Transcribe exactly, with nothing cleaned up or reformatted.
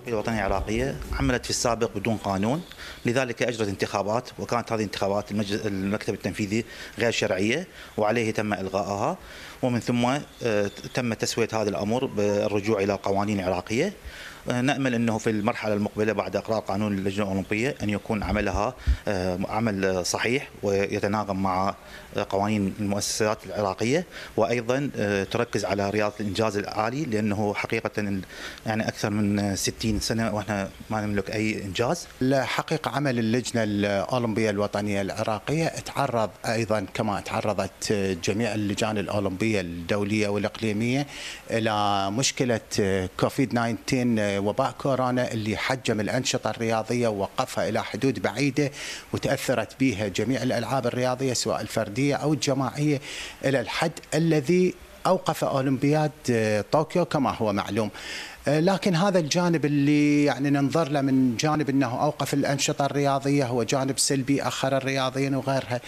الوطنية العراقية عملت في السابق بدون قانون، لذلك أجرت انتخابات، وكانت هذه الانتخابات المكتب التنفيذي غير شرعية وعليه تم إلغائها، ومن ثم تم تسوية هذا الأمر بالرجوع إلى القوانين العراقية. نأمل أنه في المرحلة المقبلة بعد إقرار قانون اللجنة الأولمبية أن يكون عملها عمل صحيح ويتناغم مع قوانين المؤسسات العراقية، وأيضا تركز على رياضة الإنجاز العالي، لأنه حقيقة يعني أكثر من ستين سنة وإحنا ما نملك أي إنجاز. الحقيقة عمل اللجنة الأولمبية الوطنية العراقية تعرض أيضا كما تعرضت جميع اللجان الأولمبية الدولية والإقليمية إلى مشكلة كوفيد تسعة عشر وباء كورونا اللي حجم الأنشطة الرياضية ووقفها إلى حدود بعيدة، وتأثرت بها جميع الألعاب الرياضية سواء الفردية أو الجماعية إلى الحد الذي أوقف أولمبياد طوكيو كما هو معلوم. لكن هذا الجانب اللي يعني ننظر له من جانب أنه أوقف الأنشطة الرياضية هو جانب سلبي، أخر الرياضيين وغيرها.